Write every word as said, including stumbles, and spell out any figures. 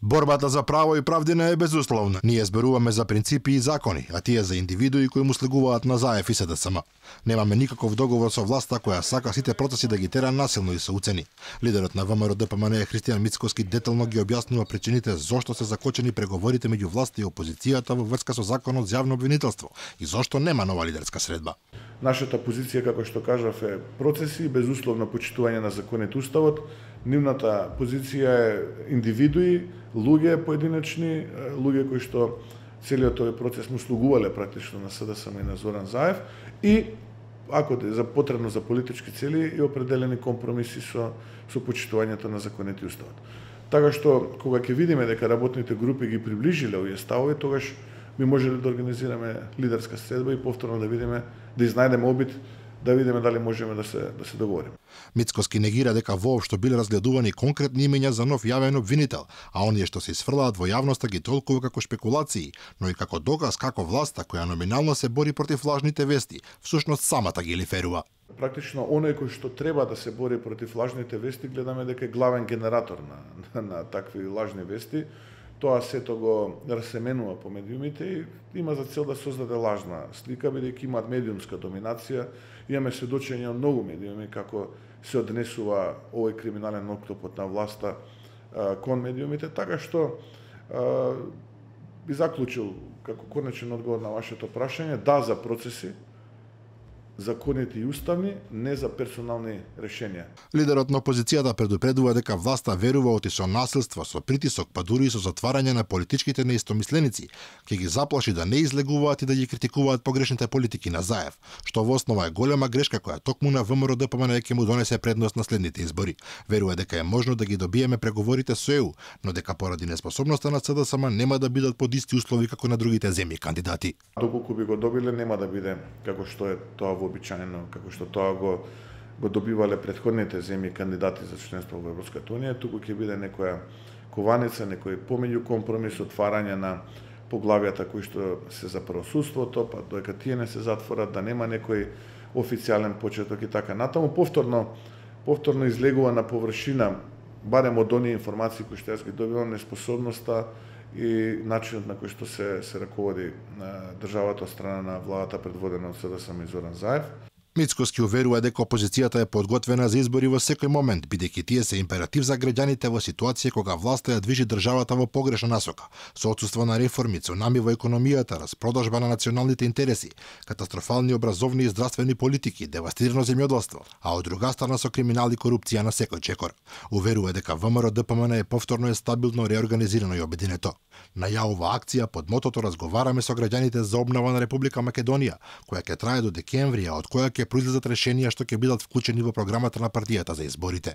Борбата за право и правдина е безусловна. Ние зборуваме за принципи и закони, а тие за индивидуи кои му слегуваат на ЗАЕФ и СДСМ. Немаме никаков договор со власта која сака сите процеси да ги тера насилно и со уцени. Лидерот на ВМРО Д П М Н Христијан Мицкоски детално ги објаснува причините зошто се закочени преговорите меѓу власта и опозицијата во врска со законот за јавно обвинителство и зошто нема нова лидерска средба. Нашата позиција, како што кажав, е процеси, безусловно почитување на законите уставот. Нивната позиција е индивидуи, луѓе поединечни, луѓе кои што целиот тој процес му слугувале практично на СДСМ и на Зоран Заев и ако е за потребно за политички цели и определени компромиси со со почитувањето на законите и уставот. Така што кога ќе видиме дека работните групи ги приближиле овие ставови, тогаш ми можеле да организираме лидерска средба и повторно да видиме, да изнајдеме обид, да видиме дали можеме да се да се договориме. Мицкоски негира дека воопшто биле разгледувани конкретни имења за нов јавен обвинител, а оние што се исфрлаат во јавноста ги толкува како шпекулации, но и како доказ како власта која номинално се бори против лажните вести, всушност самата ги лиферува. Практично оној кој што треба да се бори против лажните вести, гледаме дека е главен генератор на, на, на такви лажни вести. Тоа сето го расеменува по медиумите и има за цел да создаде лажна слика, бидејќи имаат медиумска доминација. Имаме сведочење од многу медиуми како се однесува овој криминален октопод на власта а, кон медиумите, така што а, би заклучил како конечен одговор на вашето прашање, да за процеси, законите и уставни, не за персонални решенија. Лидерот на опозицијата предупредува дека власта верува оти со насилство, со притисок, па дури и со затварање на политичките неистомисленици, ќе ги заплаши да не излегуваат и да ги критикуваат погрешните политики на Заев, што во основа е голема грешка која токму на ВМРО Д П М Н ќе му донесе предност на следните избори. Верува дека е можно да ги добиеме преговорите со Е У, но дека поради неспособноста на СДСМ нема да бидат под исти услови како на другите земји кандидати. Доколку би го добиле, нема да биде како што е тоа вообичаено, како што тоа го го добивале претходните земји кандидати за членство во Европската унија, туку ќе биде некоја кованица, некој помеѓу компромис, отварање на поглавјата кои што се за правосудството, па додека тие не се затворат, да нема некој официјален почеток и така натаму. Повторно, повторно излегува на површина, барем од оние информации кои што јас ги добивам, неспособноста и начинот на кој што се се раководи на државата од страна на владата предводена од СДСМ и Зоран Заев. Мицкоски уверува дека опозицијата е подготвена за избори во секој момент, бидејќи тие се императив за граѓаните во ситуација кога власта ја движи државата во погрешна насока, со отсуство на реформи, цунами во економијата, распродажба на националните интереси, катастрофални образовни и здравствени политики, девастирано земјоделство, а од друга страна со криминал и корупција на секој чекор. Уверува дека ВМРО Д П М Н е повторно е стабилно, реорганизирано и обединето. На јавова акција под мотото разговараме со граѓаните за обнова на Република Македонија, која ќе трае до декември, а од која ќе произлезат решенија што ќе бидат вклучени во програмата на партијата за изборите.